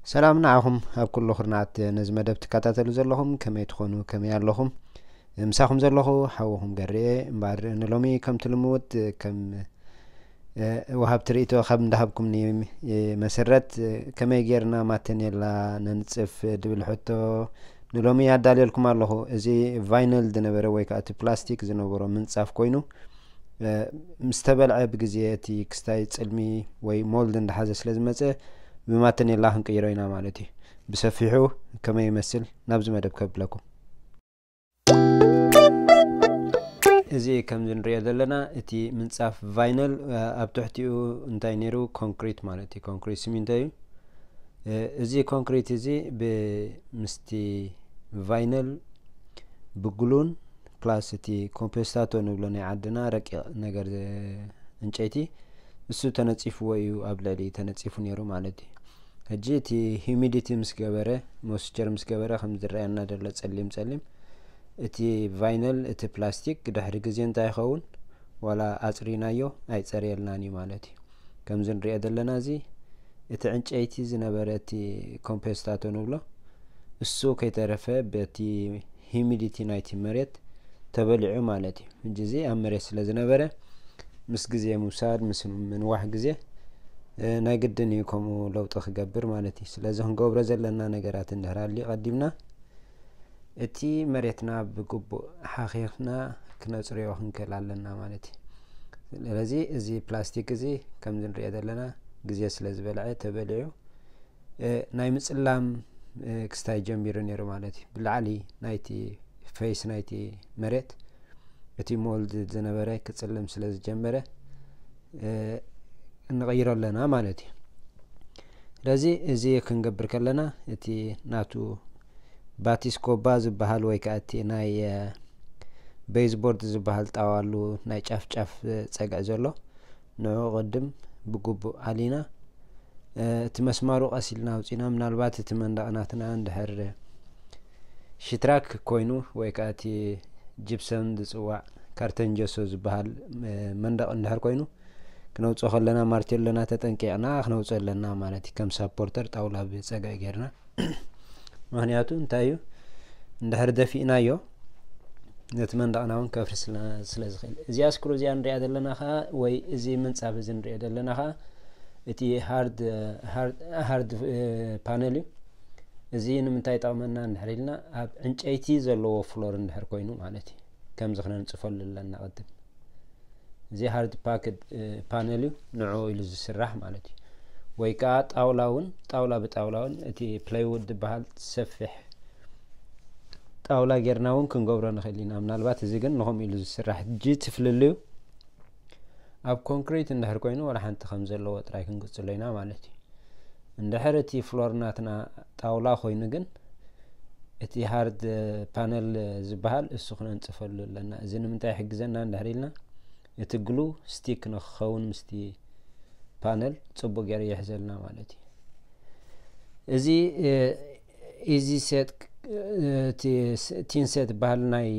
ሰላም ንዓኹም ኣብ ኩሉ ኩርናዓት ነዚ መደብ ትከታተሉ ዘለኹም፣ ከመይ ትኾኑ፣ ከመይ ኣለኹም? ምሳኹም ዘለኹ ሓውኹም ገርየ። እምበኣር ንሎሚ ከምቲ ልምውጥ ከም ወሃብቲ ርእይቶ ካብ እንዳሃብኩምኒ መሰረት፣ ከመይ ጌርና ማተኔላ ነንጽፍ ድብል ሕቶ ንሎሚ ኣዳልየልኩም ኣለኹ። እዚ ቫይነል ዝነበረ ወይ ከዓ እቲ ፕላስቲክ ዝነበሮ ምንጻፍ ኮይኑ፣ ምስ ተበልዐ ብግዜ እቲ ክስታይ ጽልሚ ወይ ሞልድ እንዳሓዘ ስለ ዝመጸ፣ ብማተኔላ ክንቅይሮ ኢና ማለት እዩ። ብሰፊሑ ከመይ ይመስል ናብዚ መደብ ከብለኩም። እዚ ከምዚ ንሪኦ ዘለና እቲ ምንጻፍ ቫይነል፣ ኣብ ትሕቲኡ እንታይ ነይሩ? ኮንክሪት ማለት እዩ። ኮንክሪት ሲሚንቶ እዩ። እዚ ኮንክሪት እዚ ብምስቲ ቫይነል ብግሉን ፕላስ እቲ ኮምፖስታቶ ንብሎ ናይ ዓድና ረቂቕ ነገር፣ ዕንጨይቲ፣ እሱ ተነጺፍዎ እዩ፣ ኣብ ልዕሊ ተነጺፉ ነይሩ ማለት እዩ። ሕጂ እቲ ሂሚዲቲ ምስ ገበረ፣ ሞስቸር ምስ ገበረ ከም ዝረኣየና ዘሎ ጸሊም ጸሊም፣ እቲ ቫይነል፣ እቲ ፕላስቲክ ድሕሪ ግዜ እንታይ ይኸውን? ዋላ ኣጽሪናዮ ኣይጸርየልናን እዩ ማለት እዩ። ከምዚ ንሪኦ ዘለና እዚ እቲ ዕንጨይቲ ዝነበረ እቲ ኮምፖስታቶ ንብሎ እሱ ከይተረፈ በቲ ሂሚዲቲ ናይቲ መሬት ተበሊዑ ማለት እዩ። ሕጂ እዚ ኣብ መሬት ስለ ዝነበረ ምስ ግዜ ምውሳድ ምስ ምንዋሕ ግዜ ናይ ግድን እዩ ከምኡ ለውጢ ክገብር ማለት እዩ። ስለዚ ክንገብሮ ዘለና ነገራት እንድሕር ኣልዩ ቀዲምና እቲ መሬትና ብግቡእ ሓኺኽና ክነጽርዮ ክንክእል ኣለና ማለት እዩ። ስለዚ እዚ ፕላስቲክ እዚ ከምዚ ንሪኦ ዘለና ግዜ ስለ ዝበልዐ ተበሊዑ ናይ ምጽላም ክስታይ ጀሚሩ ነይሩ ማለት እዩ። ብላዕሊ ናይቲ ፌስ ናይቲ መሬት እቲ ሞልድ ዝነበረ ክጽልም ስለ ዝጀመረ ንቐይሮ ኣለና ማለት እዩ። ስለዚ እዚ ክንገብር ከለና እቲ ናቱ ባቲስኮባ ዝበሃል ወይ ከዓ እቲ ናይ ቤዝቦርድ ዝበሃል ጣዋሉ ናይ ጫፍ ጫፍ ጸግዒ ዘሎ ንዑ ቅድም ብግቡእ ኣሊና እቲ መስማሩ ቀስ ኢልና ኣውፂና፣ ምናልባት እቲ መንደቕ ናትና እንድሕር ሽትራክ ኮይኑ ወይ ከዓ እቲ ጅፕሰም ዝፅዋዕ ካርተን ጀሶ ዝበሃል መንደቕ እንድሕር ኮይኑ ክነውፅኦ ከለና ማርቴሎና ተጠንቂቕና ክነውፅኦ ኣለና ማለት እዩ። ከም ሳፖርተር ጣውላ ብፀግዒ ጌርና ምክንያቱ እንታይ እዩ እንድሕር ደፊእናዮ ነቲ መንደቕና እውን ከፍርስ ስለ ዝኽእል። እዚኣ ስክሩ እዚኣ ንሪኣ ዘለና ከዓ ወይ እዚ ምንፃፍ እዚ ንሪኦ ዘለና ከዓ እቲ ሃርድ ፓነል እዩ። እዚ ንምንታይ ይጠቕመና እንድሕር ኢልና ኣብ ዕንጨይቲ ዘለዎ ፍሎር እንድሕር ኮይኑ ማለት እዩ። ከምዚ ክነንፅፈሉ ኣለና ቅድም። እዚ ሃርድ ፓክድ ፓነል እዩ ንዕኡ ኢሉ ዝስራሕ ማለት እዩ። ወይ ከዓ ጣውላ እውን ጣውላ ብጣውላ እውን እቲ ፕላይውድ ዝበሃል ሰፊሕ ጣውላ ጌርና እውን ክንገብሮ ንኽእል ኢና። ምናልባት እዚ ግን ንኸምኡ ኢሉ ዝስራሕ ሕጂ እቲ ፍልልዩ ኣብ ኮንክሪት እንድሕር ኮይኑ ዋላ ሓንቲ ከም ዘለዎ ጥራይ ክንቅጽሎ ኢና ማለት እዩ። እንድሕር እቲ ፍሎር ናትና ጣውላ ኮይኑ ግን እቲ ሃርድ ፓነል ዝበሃል እሱ ክነንጽፈሉ ኣለና። እዚ ንምንታይ ይሕግዘና እንድሕር ኢልና እቲ ግሉ ስቲክ ንክኸውን ምስቲ ፓነል ጽቡቅ ገይሩ ይሕዘልና ማለት እዩ። እዚ ኢዚ ሴት ቲን ሴት በሃል ናይ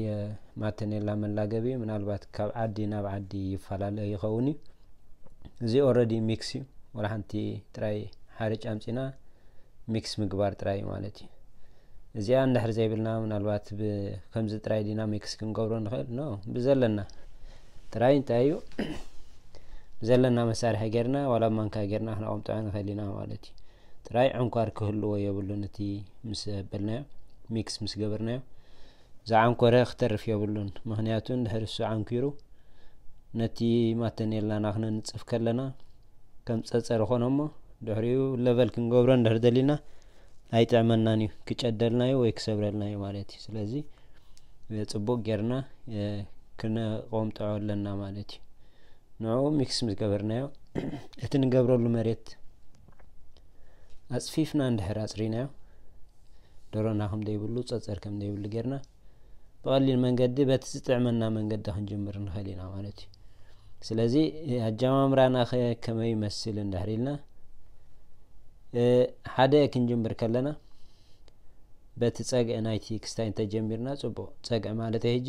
ማተኔላ መላገቢ ምናልባት ካብ ዓዲ ናብ ዓዲ ይፈላለ ይኸውን እዩ። እዚ ኦረዲ ሚክስ እዩ። ወላ ሓንቲ ጥራይ ሓርጭ ኣምፂና ሚክስ ምግባር ጥራይ ማለት እዩ። እዚኣ እንድሕር ዘይብልና ምናልባት ከምዚ ጥራይ ዲና ሚክስ ክንገብሮ ንኽእል ኖ ብዘለና ጥራይ እንታይ እዩ ብዘለና መሳርሒ ጌርና ዋላ ማንካ ጌርና ክነቐምጦ ንኽእል ኢና ማለት እዩ። ጥራይ ዕንኳር ክህልዎ የብሉን። እቲ ምስ በልናዮ ሚክስ ምስ ገበርናዮ ዝዓንኮረ ክተርፍ የብሉን። ምኽንያቱ እንድሕር እሱ ዓንኪሩ ነቲ ማተኔላና ክነንጽፍ ከለና ከም ጸጸር ኾነ እሞ ድሕሪኡ ለቨል ክንገብሮ እንድሕር ደሊና ኣይጥዕመናን እዩ። ክጨደልና እዩ ወይ ክሰብረልና እዩ ማለት እዩ። ስለዚ ጽቡቅ ጌርና ክነቆምጥዖ ኣለና ማለት እዩ። ንዕኡ ሚክስ ምስ ገበርናዮ እቲ ንገብረሉ መሬት ኣጽፊፍና እንድሕር ኣጽሪናዮ ደሮና ከም ዘይብሉ ጸጸር ከም ዘይብሉ ጌርና ብቐሊል መንገዲ በቲ ዝጥዕመና መንገዲ ክንጅምር ንኽእል ኢና ማለት እዩ። ስለዚ ኣጀማምራና ከ ከመይ ይመስል እንድሕር ኢልና ሓደ ክንጅምር ከለና በቲ ጸግዒ ናይቲ ክስታይ እንተጀሚርና ጽቡቕ። ጸግዒ ማለት ሕጂ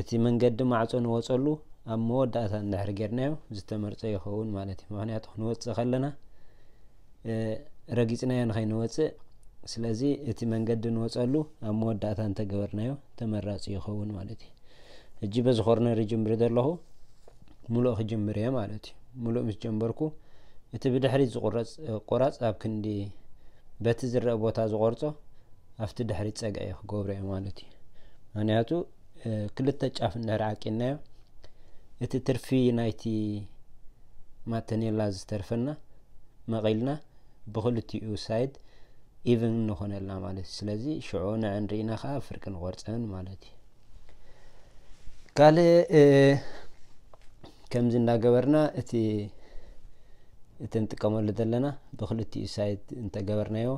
እቲ መንገዲ ማዕጾ ንወጸሉ ኣብ መወዳእታ እንድሕር ጌርናዮ ዝተመርጸ ይኸውን ማለት እዩ። ምኽንያቱ ክንወጽእ ከለና ረጊጽናዮ ንኸይንወጽእ። ስለዚ እቲ መንገዲ ንወጸሉ ኣብ መወዳእታ እንተገበርናዮ ተመራጺ ይኸውን ማለት እዩ። ሕጂ በዚ ኮርነር ይጅምር ዘለኹ፣ ሙሉእ ክጅምር እየ ማለት እዩ። ሙሉእ ምስ ጀመርኩ እቲ ብድሕሪት ዝቁረጽ ቆራጽ ኣብ ክንዲ በቲ ዝረአ ቦታ ዝቆርጾ ኣብቲ ድሕሪት ጸግዒ ክገብሮ እየ ማለት እዩ። ምክንያቱ ክልተ ጫፍ እንድሕር ዓቂናዮ እቲ ትርፊ ናይቲ ማተኔላ ዝተርፈና መቒልና ብክልቲኡ ሳይድ ኢቭን ንኾነልና ማለት እዩ። ስለዚ ሽዑ ንዕን ርኢና ከዓ ፍርቂ ንቆርፀን ማለት እዩ። ካልእ ከምዚ እንዳገበርና እቲ እቲ ንጥቀመሉ ዘለና ብክልቲኡ ሳይድ እንተገበርናዮ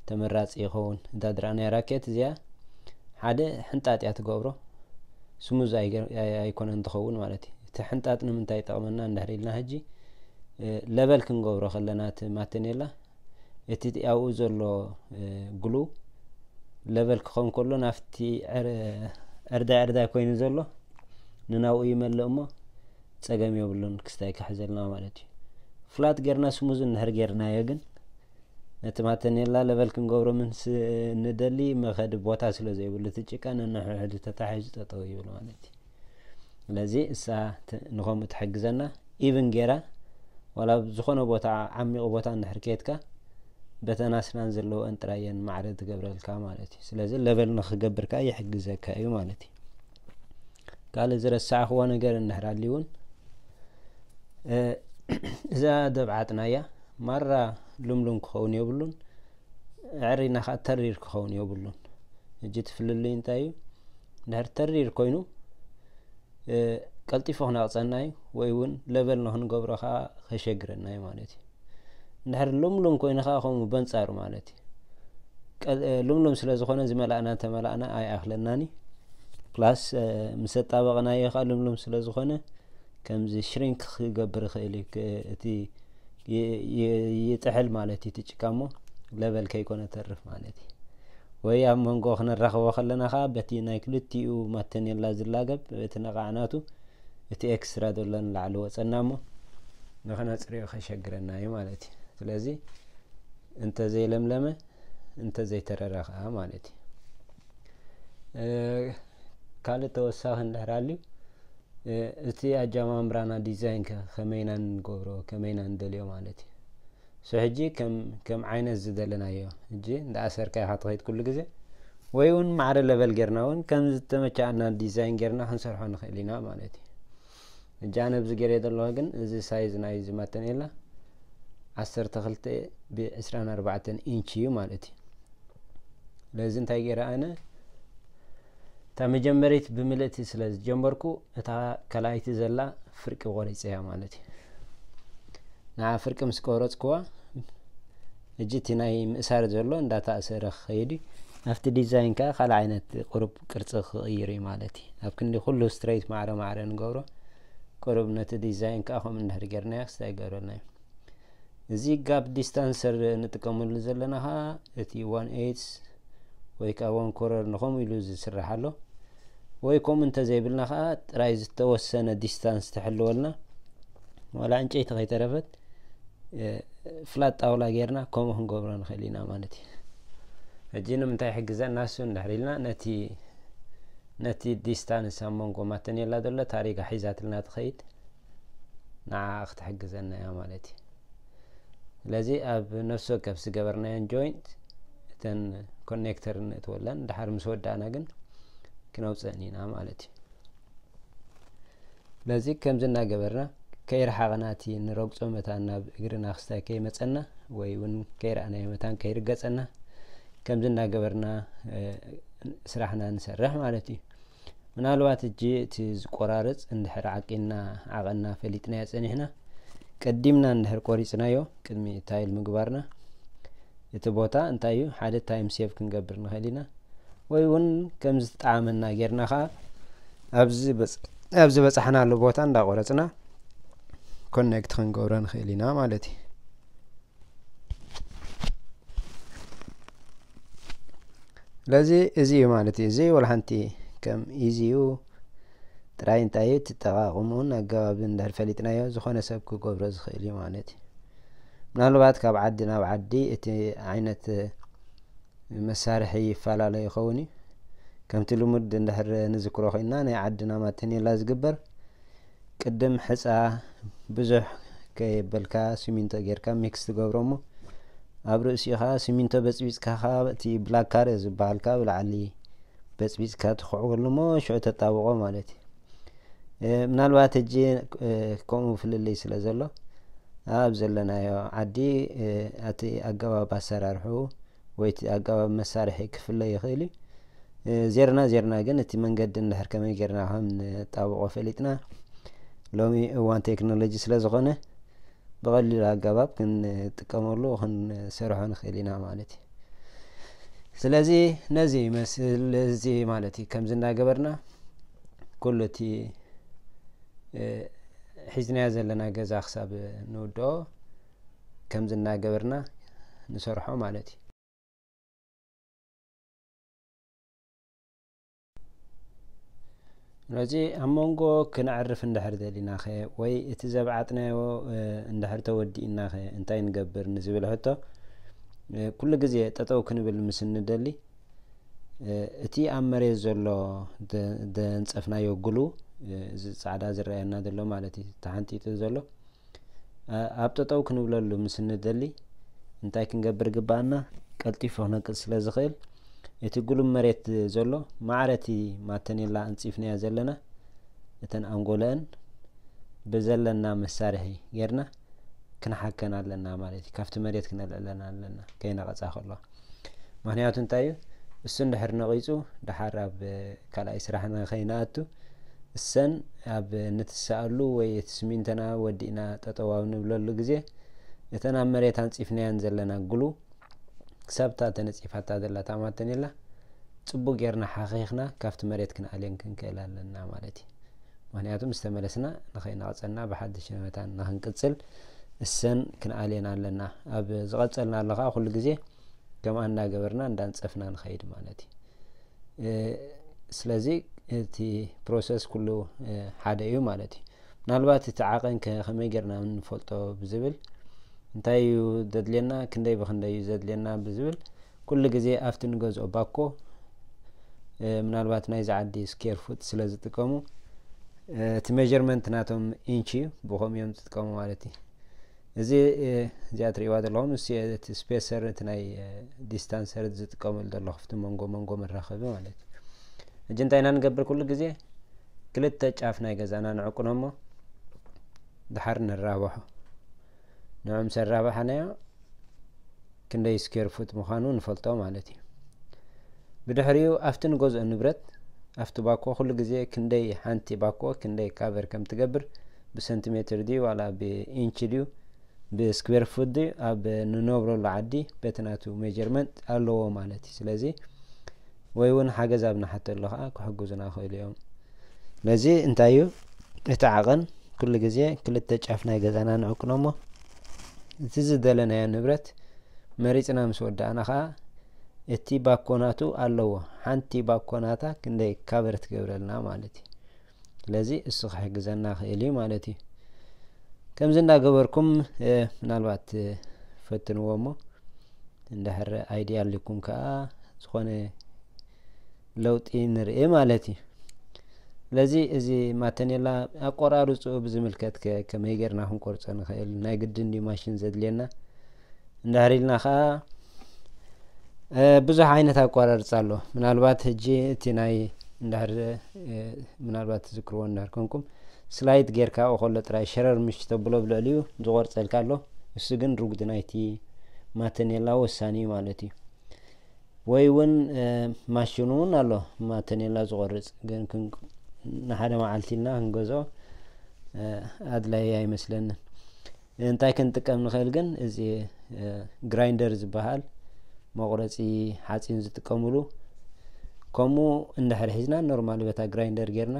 ተመራፂ ይኸውን። እዛ ድረኣናያ ራኬት እዚኣ ሓደ ሕንጣጥ እያ ትገብሮ፣ ስሙዝ ኣይኮነን ትኸውን ማለት እዩ። እቲ ሕንጣጥ ንምንታይ ይጠቕመና እንድሕር ኢልና ሕጂ ለበል ክንገብሮ ከለና እቲ ማተኔላ እቲ ኣብኡ ዘሎ ግሉ ለበል ክኸውን ከሎ ናፍቲ ዕርዳይ ዕርዳይ ኮይኑ ዘሎ ንናብኡ ይመልእ እሞ ጸገም የብሉን ክስታይ ክሕዘልና ማለት እዩ። ፍላት ጌርና ስሙዝ እንድሕር ጌርናዮ ግን ነቲ ማተኔላ ለበል ክንገብሮ ምስ ንደሊ መኸዲ ቦታ ስለ ዘይብሉ እቲ ጭቃ ነንሕድሕዱ ተታሒዙ ጠጠው ይብል ማለት እዩ። ስለዚ እሳ ንኸምኡ ትሕግዘና ኢቭን ጌራ ዋላ ኣብ ዝኾነ ቦታ ዓሚቑ ቦታ እንድሕር ከየድካ በተን ኣስናን ዘለወን ጥራየን ማዕረ ትገብረልካ ማለት እዩ። ስለዚ ለበል ንኽገብር ከዓ ይሕግዘካ እዩ ማለት እዩ። ካልእ ዝረሳዕኽዎ ነገር እንድሕር ኣልዩ እውን እዛ ደብዓጥና እያ ማራ ልምሉም ክኸውን የብሉን፣ ዕሪና ከዓ ተሪር ክኸውን የብሉን። ሕጂ እቲ ፍልልይ እንታይ እዩ? እንድሕር ተሪር ኮይኑ ቀልጢፉ ክነቕፀና እዩ፣ ወይ እውን ለበል ንክንገብሮ ከዓ ከሸግረና እዩ ማለት እዩ። እንድሕር ልምሉም ኮይኑ ከዓ ከምኡ በንፃሩ ማለት እዩ። ልምሉም ስለ ዝኾነ ዝመላእና እንተመላእና ኣይኣኽለናን እዩ። ፕላስ ምስ ኣጣበቕናዮ ከዓ ልምሉም ስለ ዝኾነ ከምዚ ሽሪንክ ክገብር ይኽእል እዩ። እቲ ይጥሕል ማለት እዩ እቲ ጭቃ እሞ ለበል ከይኮነ ተርፍ ማለት እዩ። ወይ ኣብ መንጎ ክነራኽቦ ከለና ከዓ በቲ ናይ ክልቲኡ ማተኔላ ዝላገብ እቲ ነቓዕናቱ እቲ ኤክስትራ ዘሎ ንላዕሊ ወፀና እሞ ንኽነፅርዮ ከሸግረና እዩ ማለት እዩ። ስለዚ እንተዘይለምለመ እንተዘይተረረ ከዓ ማለት እዩ። ካልእ ተወሳኺ እንድሕር ኣልዩ እቲ ኣጀማምራና ዲዛይን ከ ከመይና ንገብሮ ከመይና ንደልዮ ማለት እዩ። ሶ ሕጂ ከም ከም ዓይነት ዝደለናዮ ሕጂ እንዳኣሰርካ ኢኻ ትኸይድ ኩሉ ግዜ ወይ እውን ማዕረ ለበል ጌርና እውን ከም ዝተመቻኣና ዲዛይን ጌርና ክንሰርሖ ንኽእል ኢና ማለት እዩ። ሕጂ ኣነ ኣብዚ ገይረ ዘለኹ ግን እዚ ሳይዝ ናይ እዚ ማተኔላ ዓሰርተ ክልተ ብዕስራን ኣርባዕተን ኢንች እዩ ማለት እዩ። ስለዚ እንታይ ገይረ ኣነ እታ መጀመሪት ብምልእቲ ስለ ዝጀመርኩ እታ ካልኣይቲ ዘላ ፍርቂ ቆሪፀያ ማለት እዩ። ንዓ ፍርቂ ምስ ቆረፅክዋ ሕጂ እቲ ናይ ምእሳር ዘሎ እንዳተኣሰረ ክኸይድ እዩ። ኣብቲ ዲዛይን ከዓ ካልእ ዓይነት ቁሩብ ቅርፂ ክቕይር እዩ ማለት እዩ። ኣብ ክንዲ ኩሉ ስትሬት ማዕረ ማዕረ ንገብሮ ቁሩብ ነቲ ዲዛይን ከዓ ከምኡ እንድሕር ጌርናዮ ክስታይ ይገብረልና እዩ። እዚ ጋፕ ዲስታንሰር ንጥቀመሉ ዘለና ከዓ እቲ ዋን ኤይትስ ወይ ከዓ ዋን ኮረር ንኸምኡ ኢሉ ዝስራሕ ኣሎ። ወይ ከምኡ እንተዘይብልና ከዓ ጥራይ ዝተወሰነ ዲስታንስ ተሕልወልና ዋላ ዕንጨይቲ ከይተረፈት ፍላት ጣውላ ጌርና ከምኡ ክንገብሮ ንኽእል ኢና ማለት እዩ። ሕጂ ንምንታይ ይሕግዘና እሱ እንድሕር ኢልና ነቲ ነቲ ዲስታንስ ኣብ መንጎ ማተኔላ ዘሎ ታሪጋ ሒዛትልና ትኸይድ ንዓ ክትሕግዘና እያ ማለት እዩ። ስለዚ ኣብ ነፍሲ ወከፍ ዝገበርናየን ጆይንት እተን ኮኔክተር ንእትወለን ድሓር ምስ ወዳእና ግን ክነውፅአን ኢና ማለት እዩ። ስለዚ ከምዚ እናገበርና ከይረሓቐና እቲ ንረግፆ መታን ናብ እግርና ክስታይ ከይመፀና ወይ እውን ከይረኣናዮ መታን ከይርገፀና ከምዚ እናገበርና ስራሕና ንሰርሕ ማለት እዩ። ምናልባት እጂ እቲ ዝቆራርፅ እንድሕር ዓቂና ዓቐና ፈሊጥናዮ ፀኒሕና ቀዲምና እንድሕር ቆሪፅናዮ ቅድሚ ታይል ምግባርና እቲ ቦታ እንታይ እዩ ሓደ ታይም ሴቭ ክንገብር ንኽእል ኢና። ወይ እውን ከም ዝጠዓመና ጌርና ከዓ ኣብ ዝበፃሕናሉ ቦታ እንዳቆረፅና ኮኔክት ክንገብሮ ንኽእል ኢና ማለት እዩ። ስለዚ እዚ እዩ ማለት እዩ። እዚ ወላ ሓንቲ ከም ኢዚ እዩ ጥራይ እንታይ እዩ ትጠቃቅሙን ኣገባብ እንድሕር ፈሊጥናዮ ዝኾነ ሰብ ክገብሮ ዝኽእል እዩ ማለት እዩ። ምናልባት ካብ ዓዲ ናብ ዓዲ እቲ ዓይነት መሳርሒ ይፈላለ ይኸውን እዩ። ከምቲ ልሙድ እንድሕር ንዝክሮ ኮይና፣ ናይ ዓድና ማተኔላ ዝግበር ቅድም ሕፃ ብዙሕ ከየበልካ ሲሚንቶ ጌርካ ሚክስ ትገብሮ እሞ፣ ኣብ ርእሲኡ ከዓ ሲሚንቶ በፅቢፅካ ከዓ እቲ ብላካር ዝበሃል ከዓ ብላዕሊ በፅቢፅካ ትኽዕወሉ እሞ ሽዑ ተጣብቆ ማለት እዩ። ምናልባት ሕጂ ከምኡ ፍልልይ ስለ ዘሎ፣ ኣብ ዘለናዮ ዓዲ እቲ ኣገባብ ኣሰራርሑ ወይ እቲ ኣገባብ መሳርሒ ክፍለ ይኽእል እዩ። ዜርና ዜርና ግን እቲ መንገዲ እንድሕር ከመይ ጌርና ከም ንጣብቆ ፈሊጥና፣ ሎሚ እዋን ቴክኖሎጂ ስለ ዝኾነ፣ ብቐሊሉ ኣገባብ ክንጥቀመሉ ክንሰርሖ ንኽእል ኢና ማለት እዩ። ስለዚ ነዚ ይመስል፣ እዚ ማለት እዩ። ከምዚ እናገበርና ኩሉ እቲ ሒዝናዮ ዘለና ገዛ ክሳብ ንውድኦ ከምዚ እናገበርና ንሰርሖ ማለት እዩ። ስለዚ ኣብ መንጎ ክነዕርፍ እንድሕር ደሊናኸ ወይ እቲ ዘብዓጥናዮ እንድሕር ተወዲእናኸ እንታይ ንገብር ንዝብል ሕቶ፣ ኩሉ ግዜ ጠጠው ክንብል ምስ እንደሊ፣ እቲ ኣብ መሬት ዘሎ ዘንፀፍናዮ ግሉ፣ እዚ ፃዕዳ ዝረኣየና ዘሎ ማለት እዩ፣ ተሓንጢጡ ዘሎ፣ ኣብ ጠጠው ክንብለሉ ምስ እንደሊ እንታይ ክንገብር ግባኣና? ቀልጢፉ ክነቅፅ ስለ ዝኽእል፣ እቲ ግሉ መሬት ዘሎ ማዕረ እቲ ማተኔላ ኣንፂፍናዮ ዘለና፣ እተን ኣንጎለአን ብዘለና መሳርሒ ጌርና ክንሓከን ኣለና ማለት እዩ። ካብቲ መሬት ክነልዕለን ኣለና፣ ከይነቐፃ ከለዋ። ምክንያቱ እንታይ እዩ? እሱ እንድሕር ነቒፁ፣ ደሓር ኣብ ካልኣይ ስራሕ ንኸይንኣቱ፣ እሰን ኣብ ንትሰኣሉ ወይ እቲ ስሚንተና ወዲእና ጠጠው ኣብ ንብለሉ ግዜ፣ እተን ኣብ መሬት ኣንፂፍናየን ዘለና ግሉ፣ ክሳብ እታ ተነፂፋታ ዘላ እታ ማተኔላ፣ ፅቡቅ ጌርና ሓኺኽና ካብቲ መሬት ክንኣልየን ክንክእል ኣለና ማለት እዩ። ምክንያቱ ምስ ተመለስና ንኸይነቕፀና ብሓድሽ መታን ንኽንቅፅል እሰን ክንኣልየን ኣለና። ኣብ ዝቐፀልና ኣሎ ከዓ ኩሉ ግዜ ከምኣ እንዳገበርና እንዳንፀፍና ንኸይድ ማለት እዩ። ስለዚ እቲ ፕሮሰስ ኩሉ ሓደ እዩ ማለት እዩ። ምናልባት እቲ ዓቐን ከ ከመይ ጌርና ንፈልጦ ብዝብል፣ እንታይ እዩ ዘድልየና፣ ክንደይ ብክንደይ እዩ ዘድልየና ብዝብል፣ ኩሉ ግዜ ኣብቲ ንገዝኦ ባኮ፣ ምናልባት ናይዚ ዓዲ ስኬር ፉት ስለ ዝጥቀሙ፣ እቲ ሜጀርመንት ናቶም ኢንች እዩ፣ ብኸምኡ እዮም ዝጥቀሙ ማለት እዩ። እዚ እዚኣ ትርእይዋ ዘለኹም፣ እዚ እቲ ስፔሰር፣ እቲ ናይ ዲስታንሰር ዝጥቀመሉ ዘለኹ፣ ኣብቲ መንጎ መንጎ መራኸቢ ማለት እዩ። ሕጂ እንታይ ኢና ንገብር? ኩሉ ግዜ ክልተ ጫፍ ናይ ገዛና ንዕቁኖ እሞ፣ ድሓር ንራብሖ። ንዑ ምስ ኣራባሕናዮ፣ ክንደይ ስኬር ፉት ምዃኑ ንፈልጦ ማለት እዩ። ብድሕሪኡ ኣብቲ ንገዝኦ ንብረት፣ ኣብቲ ባኮ ኩሉ ግዜ ክንደይ፣ ሓንቲ ባኮ ክንደይ ካቨር ከም ትገብር፣ ብሰንቲሜትር ድዩ ዋላ ብኢንች ድዩ ብስኩዌር ፉት ድዩ ኣብ ንነብረሉ ዓዲ በቲ ናቱ ሜጀርመንት ኣለዎ ማለት እዩ። ስለዚ ወይ እውን ሓገዝ ኣብ ንሓተሉ ከዓ ክሕግዙና ይኽእሉ እዮም። ስለዚ እንታይ እዩ እቲ ዓቐን? ኩሉ ግዜ ክልተ ጫፍ ናይ ገዛና ንዕቅኖ እሞ እቲ ዝደለናዮ ንብረት መሪፅና ምስ ወዳእና ከዓ እቲ ባኮ ናቱ ኣለዎ። ሓንቲ ባኮ ናታ ክንደይ ካቨር ትገብረልና ማለት እዩ። ስለዚ እሱ ክሕግዘና ክእል እዩ ማለት እዩ። ከምዚ እንዳገበርኩም ምናልባት ፈትንዎ እሞ እንድሕር ኣይድያ ኣሊኩም ከዓ ዝኾነ ለውጢ ንርኢ ማለት እዩ። ስለዚ እዚ ማተኔላ ኣቆራርፅኡ ብዝምልከት ከ ከመይ ጌርና ክንቆርፆ ንኽእል? ናይ ግድን ድዩ ማሽን ዘድልየና? እንድሕር ኢልና ከዓ ብዙሕ ዓይነት ኣቋራርፃ ኣሎ። ምናልባት ሕጂ እቲ ናይ እንድሕር ምናልባት ትዝክርዎ እንድሕር ኮንኩም፣ ስላይድ ጌርካ ከሎ ጥራይ ሸረር ምሽ ተብሎ ብልዕሊኡ ዝቆርፀልካ ኣሎ። እሱ ግን ርጉድ ናይቲ ማተኔላ ወሳኒ እዩ ማለት እዩ። ወይ እውን ማሽኑ እውን ኣሎ ማተኔላ ዝቆርፅ፣ ግን ንሓደ መዓልቲ ኢልና ክንገዝኦ ኣድላይ ኣይመስለንን። እንታይ ክንጥቀም ንኽእል ግን፣ እዚ ግራይንደር ዝበሃል መቑረፂ ሓፂን ዝጥቀምሉ፣ ከምኡ እንድሕር ሒዝና ኖርማል በታ ግራይንደር ጌርና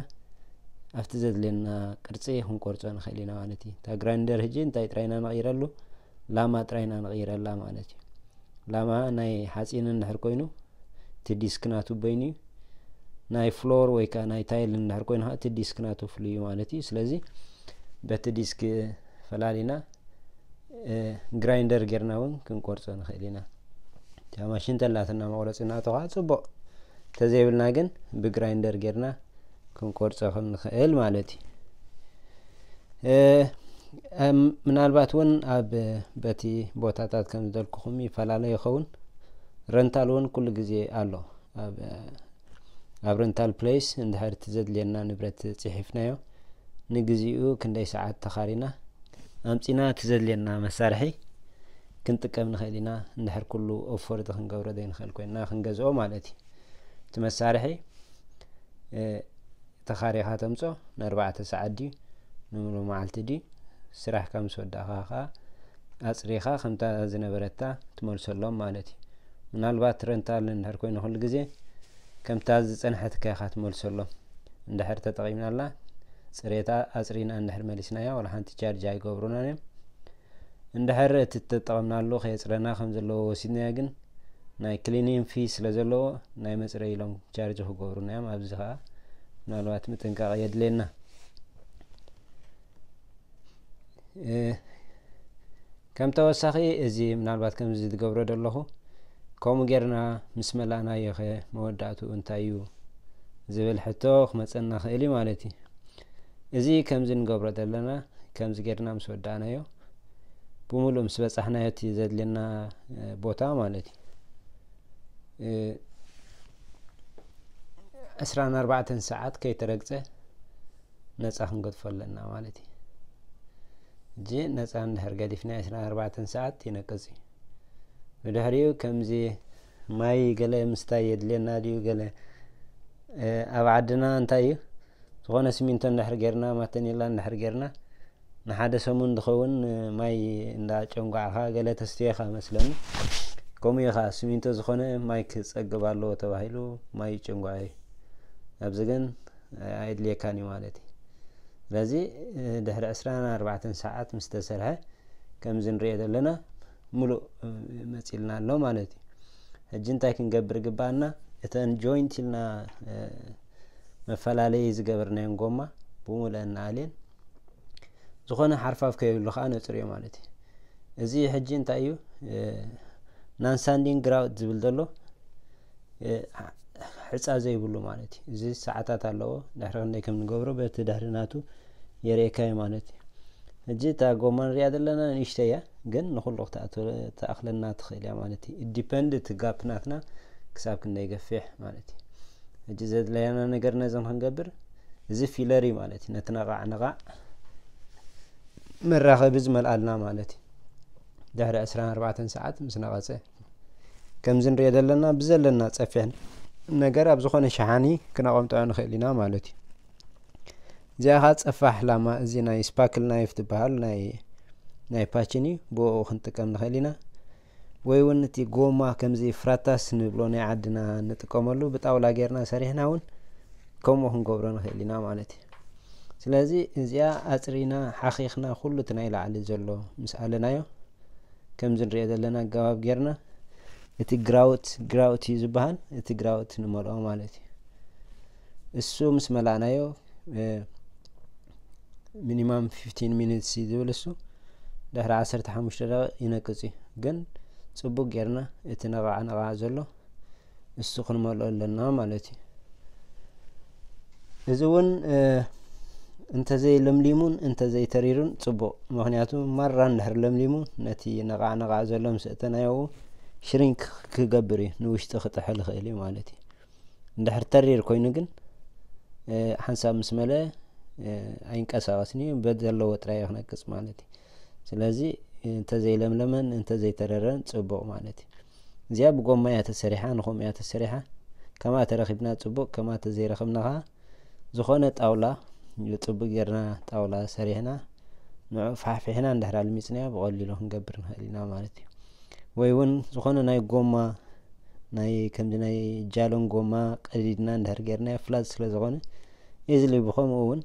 ኣብቲ ዘድልየና ቅርፂ ክንቆርፆ ንኽእል ኢና ማለት እዩ። እታ ግራይንደር ሕጂ እንታይ ጥራይና ንቕይረሉ? ላማ ጥራይና ንቕይረላ ማለት እዩ። ላማ ናይ ሓፂን እንድሕር ኮይኑ እቲ ዲስክ ናቱ በይኑ እዩ። ናይ ፍሎር ወይ ከዓ ናይ ታይል እንድሕር ኮይኑ ከዓ እቲ ዲስክ ናቱ ፍሉይ እዩ ማለት እዩ። ስለዚ በቲ ዲስክ ፈላሊና ግራይንደር ጌርና እውን ክንቆርጾ ንኽእል ኢና። እታ ማሽን ተላትና መቑረጺ ናቶ ከዓ ጽቡቕ፣ ተዘይብልና ግን ብግራይንደር ጌርና ክንቆርጾ ክንኽእል ማለት እዩ። ምናልባት እውን ኣብ በቲ ቦታታት ከም ዝበልኩኹም ይፈላለ ይኸውን። ረንታል እውን ኩሉ ግዜ ኣሎ። ኣብ ረንታል ፕሌስ እንድሕር እቲ ዘድልየና ንብረት ጽሒፍናዮ፣ ንግዚኡ ክንደይ ሰዓት ተኻሪና ኣምጺና እቲ ዘድልየና መሳርሒ ክንጥቀም ንኽእል ኢና። እንድሕር ኩሉ ኦፎርድ ክንገብሮ ዘይንኽእል ኮይንና ክንገዝኦ ማለት እዩ። እቲ መሳርሒ ተኻሪኻ ተምጾ፣ ንኣርባዕተ ሰዓት ድዩ፣ ንምሉእ መዓልቲ ድዩ፣ ስራሕካ ምስ ወዳእኻ ኸዓ ኣጽሪኻ ከምታ ዝነበረታ ትመልሰሎም ማለት እዩ። ምናልባት ረንታል እንድሕር ኮይኑ ኩሉ ግዜ ከምታ ዝጸንሐትካ ኢኻ ትመልሰሎም። እንድሕር ተጠቒምናላ፣ ጽሬታ ኣጽሪና እንድሕር መሊስናያ፣ ዋላ ሓንቲ ቻርጅ ኣይገብሩናን እዮም። እንድሕር እቲ እተጠቐምናሉ ከየጽረና ከም ዘለዎ ወሲድናዮ ግን፣ ናይ ክሊኒንግ ፊ ስለ ዘለዎ፣ ናይ መጽረይ ኢሎም ቻርጅ ክገብሩና እዮም። ኣብዚ ኸዓ ምናልባት ምጥንቃቕ የድልየና። ከም ተወሳኺ፣ እዚ ምናልባት ከምዚ ዝገብሮ ዘለኹ፣ ከምኡ ጌርና ምስ መላእናዮ ኸ መወዳእትኡ እንታይ እዩ ዝብል ሕቶ ክመጸና ኽእል እዩ ማለት እዩ። እዚ ከምዚ ንገብሮ ዘለና፣ ከምዚ ጌርና ምስ ወዳእናዮ፣ ብምሉእ ምስ በጻሕናዮ እቲ ዘድልየና ቦታ ማለት እዩ፣ ዕስራን ኣርባዕተን ሰዓት ከይተረግጸ ነጻ ክንገድፎ ኣለና ማለት እዩ። እጂ ነጻ እንድሕር ገዲፍና ዕስራን ኣርባዕተን ሰዓት ይነቅጽ እዩ። ብድሕሪኡ ከምዚ ማይ ገለ ምስታይ የድልየና ድዩ? ገለ ኣብ ዓድና እንታይ እዩ፣ ዝኾነ ሲሚንቶ እንድሕር ጌርና፣ ማተኔላ እንድሕር ጌርና፣ ንሓደ ሰሙን ዝኸውን ማይ እንዳ ጨንጓዕኻ ገለ ተስትየኻ መስለኒ። ከምኡ እዩ ኸዓ፣ ሲሚንቶ ዝኾነ ማይ ክጸግብ ኣለዎ ተባሂሉ ማይ ይጭንጓዕ እዩ። ኣብዚ ግን ኣየድልየካን እዩ ማለት እዩ። ስለዚ ድሕሪ ዕስራን ኣርባዕተን ሰዓት ምስ ተሰርሐ፣ ከምዚ ንሪኦ ዘለና፣ ሙሉእ መጺልና ኣሎ ማለት እዩ። ሕጂ እንታይ ክንገብር ግባኣና? እተን ጆይንት ኢልና መፈላለዪ ዝገበርናየን ጎማ ብሙሉአን ንኣልየን፣ ዝኾነ ሓርፋፍ ከየብሉ ከዓ ነጽርዮ ማለት እዩ። እዚ ሕጂ እንታይ እዩ? ናን ሳንዲንግ ግራውት ዝብል ዘሎ፣ ሕጻ ዘይብሉ ማለት እዩ። እዚ ሰዓታት ኣለዎ፣ ድሕሪ ክንደይ ከም ንገብሮ በቲ ድሕሪ ናቱ የርእየካ እዩ ማለት እዩ። ሕጂ እታ ጎማ ንሪኣ ዘለና ንእሽተይ እያ፣ ግን ንኹሉ ክትኣክለና ትኽእል እያ ማለት እዩ። ዲፐንድ እቲ ጋፕ ናትና ክሳብ ክንደይ ገፊሕ ማለት እዩ። ሕጂ ዘድለያና ነገር ነዚ ንክንገብር፣ እዚ ፊለር እዩ ማለት እዩ። ነቲ ነቓዕ ነቓዕ መራኸቢ ዝመልኣልና ማለት እዩ። ድሕሪ ዕስራን ኣርባዕተን ሰዓት ምስ ነቐጸ፣ ከምዚ ንሪኦ ዘለና፣ ብዘለና ጸፊሕ ነገር ኣብ ዝኾነ ሸሓኒ ክነቐምጦ ንኽእል ኢና ማለት እዩ። እዚኣ ኸዓ ጸፋሕ ላማ፣ እዚ ናይ ስፓክል ናይፍ ትበሃል ናይ፣ ናይ ፓችን እዩ። ብኡ ክንጥቀም ንኽእል ኢና። ወይ እውን እቲ ጎማ ከምዚ ፍራታስ ንብሎ ናይ ዓድና ንጥቀመሉ፣ ብጣውላ ጌርና ሰሪሕና እውን ከምኡ ክንገብሮ ንኽእል ኢና ማለት እዩ። ስለዚ እዚኣ ኣጽሪና፣ ሓኺኽና፣ ኩሉ እቲ ናይ ላዕሊ ዘሎ ምስ ኣለናዮ፣ ከምዚ ንሪኦ ዘለና ኣገባብ ጌርና፣ እቲ ግራውት፣ ግራውት እዩ ዝበሃል፣ እቲ ግራውት ንመልኦ ማለት እዩ። እሱ ምስ መላእናዮ፣ ሚኒማም ፊፍቲን ሚኒትስ እዩ ዝብል እሱ፣ ድሕሪ ዓሰርተ ሓሙሽተ ደቂቕ ይነቅጽ እዩ። ግን ጽቡቕ ጌርና እቲ ነቓዕ ነቓዕ ዘሎ እሱ ክንመልኦ ኣለና ማለት እዩ። እዚ እውን እንተዘይለምሊሙን እንተዘይተሪሩን ጽቡቕ። ምኽንያቱ ማራ እንድሕር ለምሊሙ፣ ነቲ ነቓዕ ነቓዕ ዘሎ ምስ እተናዮ ሽሪንክ ክገብር እዩ፣ ንውሽጢ ክጥሕል ይኽእል እዩ ማለት እዩ። እንድሕር ተሪር ኮይኑ ግን፣ ሓንሳብ ምስ መለ ኣይንቀሳቐስን እዩ፣ በቲ ዘለዎ ጥራይ እዩ ክነቅጽ ማለት እዩ። ስለዚ እንተዘይለምለመን እንተዘይተረረን ጽቡቕ ማለት እዩ። እዚኣ ብጎማ እያ ተሰሪሓ፣ ንኸምኡ እያ ተሰሪሓ። ከምኣ ተረኺብና ጽቡቕ፣ ከምኣ ተዘይረኸብና ኸዓ ዝኾነ ጣውላ፣ ጽቡቕ ጌርና ጣውላ ሰሪሕና፣ ንዕኡ ፋሕፊሕና እንድሕር ኣልሚጽናዮ ብቐሊሉ ክንገብር ንኽእል ኢና ማለት እዩ። ወይ እውን ዝኾነ ናይ ጎማ፣ ናይ ከምዚ ናይ ጃሎን ጎማ ቀዲድና እንድሕር ጌርናዮ ፍላት ስለ ዝኾነ፣ ኢዝሊ ብኸምኡ እውን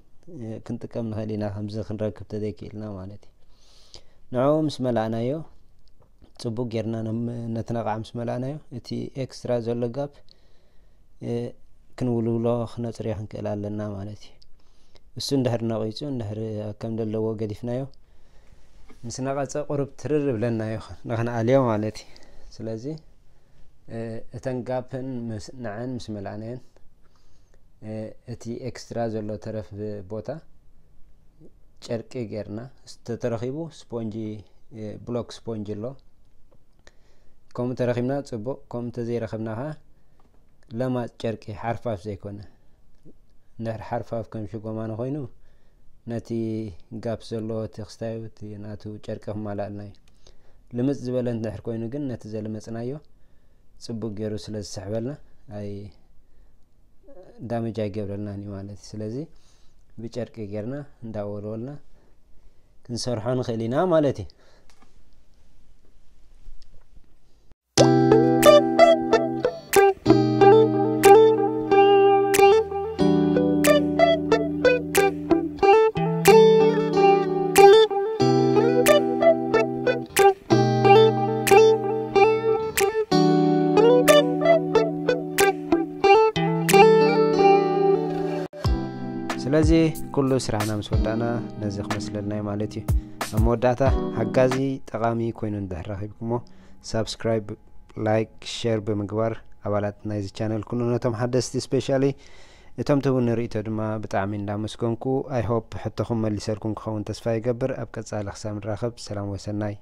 ክንጥቀም ንኽእል ኢና፣ ከምዚ ክንረክብ ተዘይክኢልና ማለት እዩ። ንዕኡ ምስ መላእናዮ፣ ጽቡቕ ጌርና ነቲ ነቓዕ ምስ መላእናዮ፣ እቲ ኤክስትራ ዘሎ ጋፕ ክንውልውሎ ክነጽርዮ ክንክእል ኣለና ማለት እዩ። እሱ እንድሕር ነቒጹ፣ እንድሕር ከም ዘለዎ ገዲፍናዮ፣ ምስ ነቐጸ ቁሩብ ትርር ብለና እዩ ንኽንኣልዮ ማለት እዩ። ስለዚ እተን ጋፕን ንዐን ምስ መላእናየን እቲ ኤክስትራ ዘሎ ተረፍ ቦታ ጨርቂ ጌርና፣ ተተረኺቡ ስፖንጂ፣ ብሎክ ስፖንጂ ኣሎ። ከምኡ ተረኺብና ጽቡቕ፣ ከምኡ ተዘይረኸብና ኸዓ ለማጽ ጨርቂ ሓርፋፍ ዘይኮነ፣ እንድሕር ሓርፋፍ ከም ሽጎማኒ ኮይኑ ነቲ ጋፕ ዘለዎ እቲ ክስታዩ እቲ ናቱ ጨርቂ ክማላእልና እዩ። ልምጽ ዝበለ እንድሕር ኮይኑ ግን ነቲ ዘለመጽናዮ ጽቡቅ ገይሩ ስለ ዝስሕበልና ኣይ ዳመጅ ኣይገብረልናን እዩ ማለት እዩ። ስለዚ ብጨርቂ ጌርና እንዳወልወልና ክንሰርሖ ንኽእል ኢና ማለት እዩ። ስለዚ ኩሉ ስራሕና ምስ ወዳእና ነዚ ክመስለልና እዩ ማለት እዩ። ኣብ መወዳእታ ሓጋዚ ጠቓሚ ኮይኑ እንድሕር ረኺብኩሞ ሳብስክራይብ፣ ላይክ፣ ሸር ብምግባር ኣባላት ናይዚ ቻነል ኩኑ። ነቶም ሓደስቲ ስፔሻሊ እቶም ትህቡኒ ርእይቶ ድማ ብጣዕሚ እንዳመስገንኩ። ኣይ ሆፕ ሕቶኹም መሊሰልኩም ክኸውን ተስፋ ይገብር። ኣብ ቀጻሊ ክሳብ ንራኸብ ሰላም ወሰናይ።